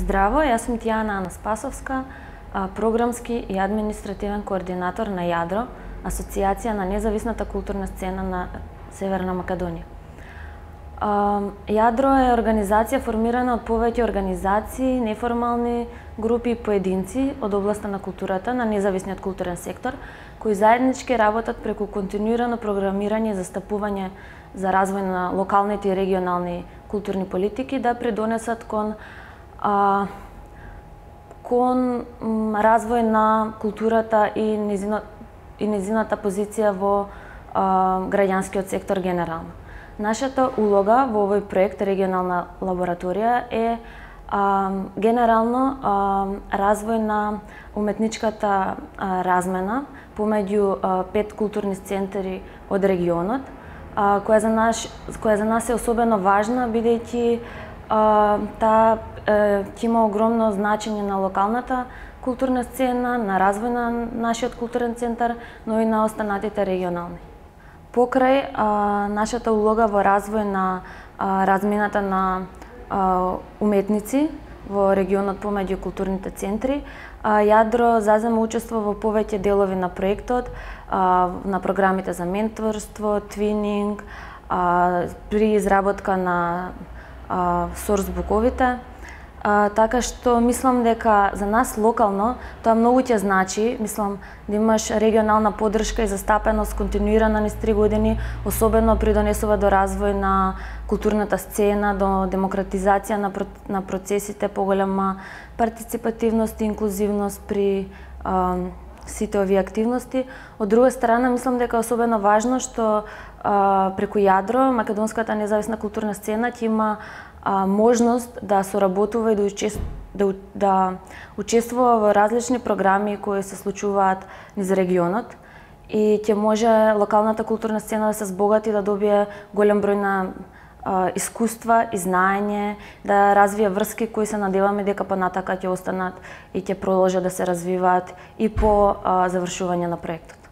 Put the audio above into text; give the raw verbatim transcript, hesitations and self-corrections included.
Здраво, јас сум Тијана Анаспасовска, програмски и административен координатор на Јадро, Асоцијација на независната културна сцена на Северна Македонија. Јадро е организација формирана од повеќе организации, неформални групи и поединци од областа на културата на независниот културен сектор, кои заеднички работат преку континуирано програмирање и застапување за развој на локалните и регионални културни политики да придонесат кон а, кон развој на културата и незино, и незината позиција во а, граѓанскиот сектор генерално. Нашата улога во овој проект Регионална лабораторија е а, генерално а, развој на уметничката а, размена помеѓу а, пет културни центри од регионот, а, која за наш која за нас е особено важна бидејќи таа ќе има огромно значење на локалната културна сцена, на развој на нашиот културен центар, но и на останатите регионални. Покрај а, нашата улога во развој на а, размената на а, уметници во регионот помеѓу културните центри, а, Јадро зазема учество во повеќе делови на проектот, а, на програмите за менторство, твининг, а, при изработка на сорсбуковите, така што мислам дека за нас локално тоа многу ќе значи, мислам да имаш регионална поддршка и застапеност континуирана низ три години, особено придонесува до развој на културната сцена, до демократизација на, на процесите, поголема партиципативност и инклузивност при а, сите овие активности. Од друга страна, мислам дека е особено важно што а, преку Јадро, македонската независна културна сцена ќе има а, можност да соработува и да, учест... да, да учествува во различни програми кои се случуваат низ регионот и ќе може локалната културна сцена да се збогати, да добие голем број на а, искуства и знаење, да развие врски кои се надеваме дека понатака ќе останат и ќе продолжат да се развиваат и по а, завршување на проектот.